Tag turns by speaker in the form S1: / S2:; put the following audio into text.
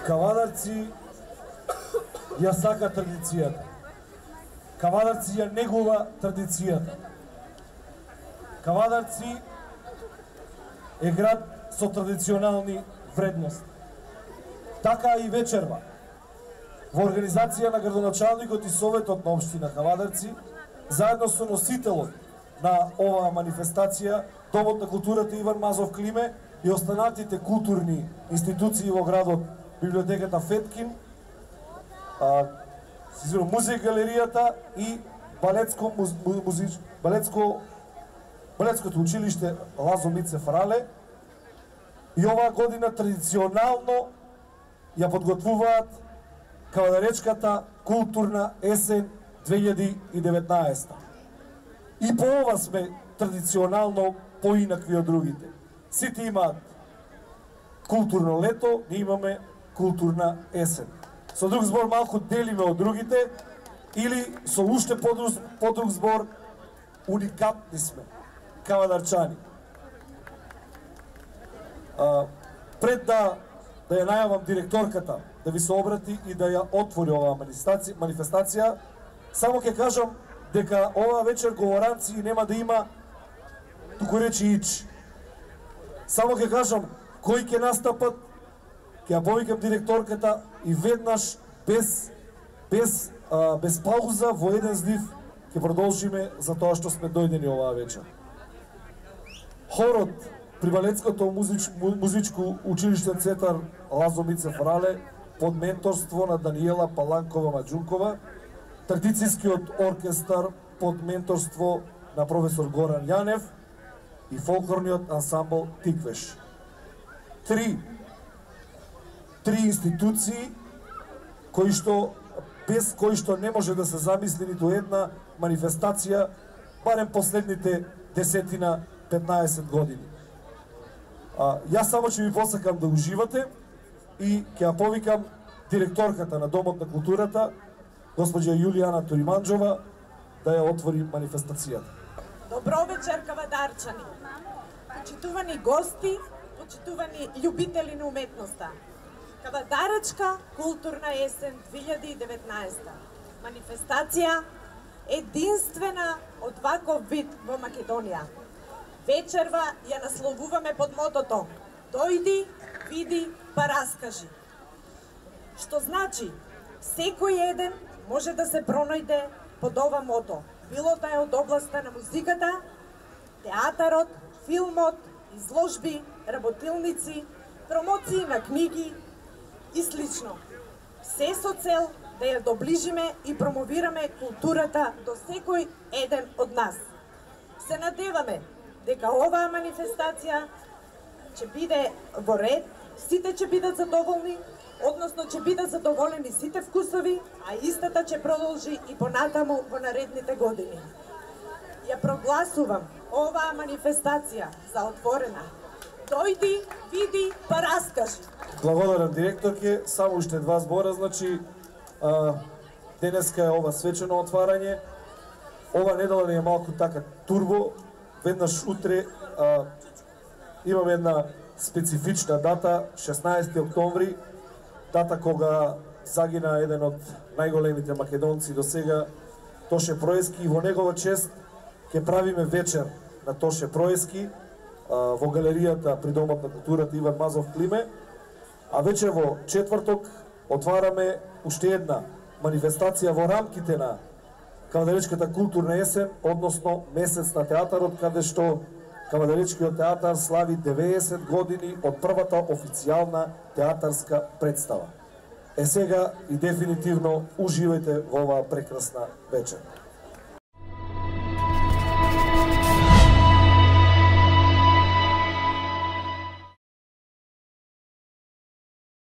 S1: Кавадарци ја сака традицијата. Кавадарци ја негува традицијата. Кавадарци е град со традиционални вредности. Така и вечерва. Во организација на градоначалникот и Советот на општина Кавадарци, заедно со носителот на оваа манифестација, Домот на културата Иван Мазов Климе и останатите културни институции во градот, библиотеката Феткин, музеј галеријата и балетското училиште Лазо Мицев Рале, и оваа година традиционално ја подготвуваат Кавадаречката културна есен 2019. И по ова сме традиционално поинакви од другите. Сите имаат културно лето, ние имаме културна есен. Со друг збор малку делиме од другите, или со уште подруг збор уникатни сме, кавадарчани. Пред да ја најавам директорката да ви се обрати и да ја отвори оваа манифестација, само ќе кажам дека оваа вечер говоранци нема да има, туку речи ич. Само ќе кажам кои ќе настапат, ќе ја повикам директорката и веднаш без пауза во еден злив ќе продолжиме за тоа што сме дојдени оваа вечер. Хорот при Балетското музичко училиште Цетар Лазо Мицев Рале под менторство на Даниела Паланкова Маджункова, традицијскиот оркестар под менторство на професор Горан Јанев и фолклорниот ансамбл Тиквеш. Три институции без кои што не може да се замисли ниту една манифестација, барем последните 10-15 години. Јас само ќе ви посакам да уживате и ќе ја повикам директорката на Домот на културата, госпоѓа Јулијана Ториманџова, да ја отвори манифестацијата.
S2: Добро вечер, кавадарчани! Почитувани гости, почитувани љубители на уметноста. Кавадаречка културна есен 2019. Манифестација единствена од ваков вид во Македонија. Вечерва ја насловуваме под мотото "Дојди, види, па раскажи". Што значи, секој еден може да се пронајде под ова мото, било да е од областа на музиката, театарот, филмот, изложби, работилници, промоции на книги и слично. Се со цел да ја доближиме и промовираме културата до секој еден од нас. Се надеваме дека оваа манифестација ќе биде во ред, сите ќе бидат задоволни, односно ќе бидат задоволени сите вкусови, а истата ќе продолжи и понатаму во наредните години. Ја прогласувам оваа манифестација за отворена. Дојди, види, па раскажи.
S1: Благодарам директорке, само уште два збора, значи денеска е ова свечено отварање. Ова недела не е малку така турбо, веднаш утре имаме една специфична дата, 16 октомври, дата кога загина еден од најголемите македонци до сега, Тоше Проески, и во негова чест ќе правиме вечер на Тоше Проески во галеријата при Домот на културата Иван Мазов Климе, а вече во четврток отвараме уште една манифестација во рамките на Кавадаречката културна есен, односно месец на театарот, каде што Кавадаречкиот театар слави 90 години од првата официјална театарска представа. Сега и дефинитивно уживајте во оваа прекрасна вечер.